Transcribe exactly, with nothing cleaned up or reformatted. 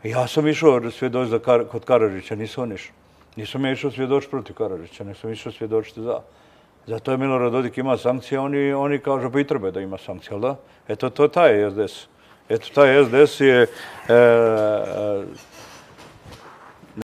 Ja sam išao svjedoč za Kar, kod Karadžića, nisam išao. Nisam ja išao svjedoč protiv Karadžića, nek sam išao svjedočiti za. Zato je Milorad Dodik ima sankcije, oni, oni kažu pa i treba da ima sankcije, jel da? Eto, to taj S D S. Eto, taj S D S je... E,